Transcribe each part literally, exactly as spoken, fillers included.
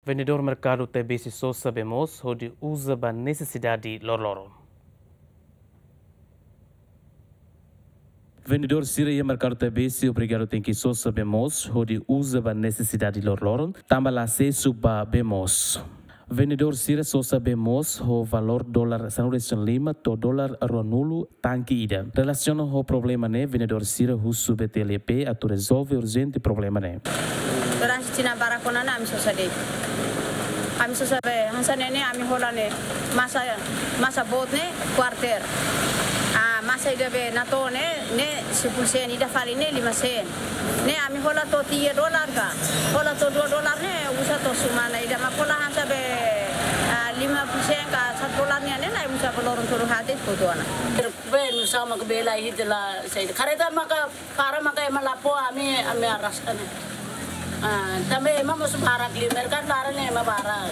Vendedór merkadu Taibesi sosa bee moos hodi uza ba nesesidade loroloron. Vendedór sira iha merkadu Taibesi obrigadu tenke sosa bee moos hodi uza ba nesesidade loroloron, tanba la asesu ba bee moos. Vendedór sira sosa bee moos ho valór dolar sanulu-resin-lima to'o dolar ruanulu tanke ida. Relasiona ho problema ne'e, vendedór sira husu B T L E P atu rezolve urjente problema ne'e. Durante tinan barak ona ne'e ami sosa de'it. Ami sosa bee hanesan ne'e, ami hola ne'e masa, masa boot ne'e kuarter. Ah, masa ida be natoon ne'e, ne'e sepuluh sen, ida fali ne'e lima sen. Ne'e ami hola to'o tiga dolar ka, hola to'o dua dolar ne'e uza to'o semana ida, mak hola hanesan be, ah, lima puluh sen ka satu dolar nian ne'e, ne'e uza ba loron tolu haat de'it hotu ona. Be nu'usá mak bee la iha, la saida. Kareta maka para maka ema la fó, ami, ami arraska ne'e. Ah, tanba ema mós barak liu, merkadu laran ne'e ema barak.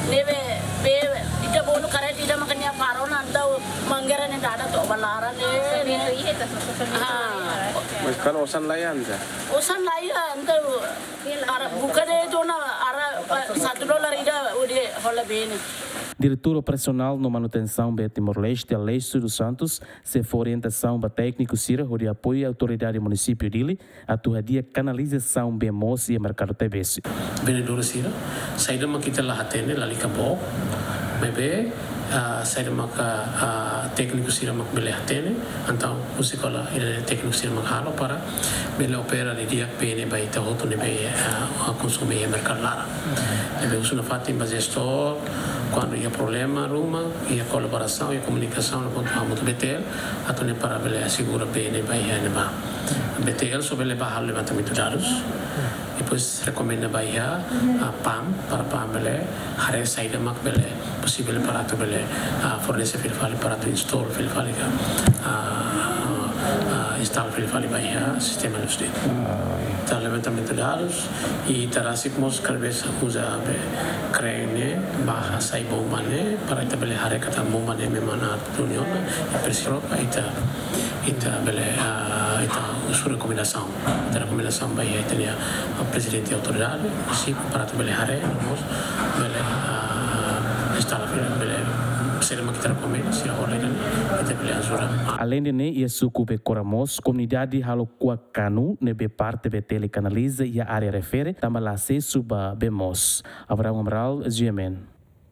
Ne'ebé, bee, ita bolu kareta ida maka nia para ona, entaun manguera ne'e dada to'o ba laran ne'e, ne'e. Ah. Mas kan osan la iha, entaun? Osan la iha, entaun ara buka de'it ona, ara, satu dolar ida hodi hola bee ne'e. Diretór Operasionál no Manutensaun Bee Timor-Leste, Aleixo dos Santos, sei fó orientasaun ba tékniku sira hodi apoiu autoridade munisípiu Dili atu hadi'a kanalizasaun bee moos iha merkadu Taibesi. Vendedór sira, saida mak ita la hatene, lalika book, maibé, ah, saida maka, ah, tékniku sira mak bele hatene, entaun husi kola, eh, tékniku sira mak halo para bele opera didi'ak bee ne'e ba ita hotu ne'ebé, ah, konsume iha merkadu laran. Ne'ebé husu nafatin ba jestór, kuandu iha problema ruma, iha kolaborasaun, iha komunikasaun, no pontu hamutuk B T L, atu nune'e para bele asegura bee ne'e ba iha ne'ebá. B T L só bele bá halo levantamentu dadus. Depois rekomenda ba iha, ah, PAM, para PAM bele haree saida mak bele posivel para atu bele, ah, fornese fila fali para atu install fila fali ka, ah, ah, install fila fali ba iha sistema lus de'it. Ita levantamentu dadus, i ita rasik mós kada vez uza be kreen ne'e ba hasai bomba ne'e para ita bele haree katak bomba ne'e memang atu duni ona, i presiza ita, ita bele, ah, ita husu rekomendasaun. Ita rekomendasaun ba iha ita-nia, ah, prezidente autoridade munisípiu para atu bele haree, no mós bele, ah, instala fila, bele, saida mak ita rekomenda, sira hola ida-ne'e, ita bele ajuda. Aleinde ne'e, iha suku Becora mós, komunidade halo kuak kanu ne'ebé parte B T L kanaliza iha área refere, tanba la asesu ba bee moos. Abraham Amaral, G M N.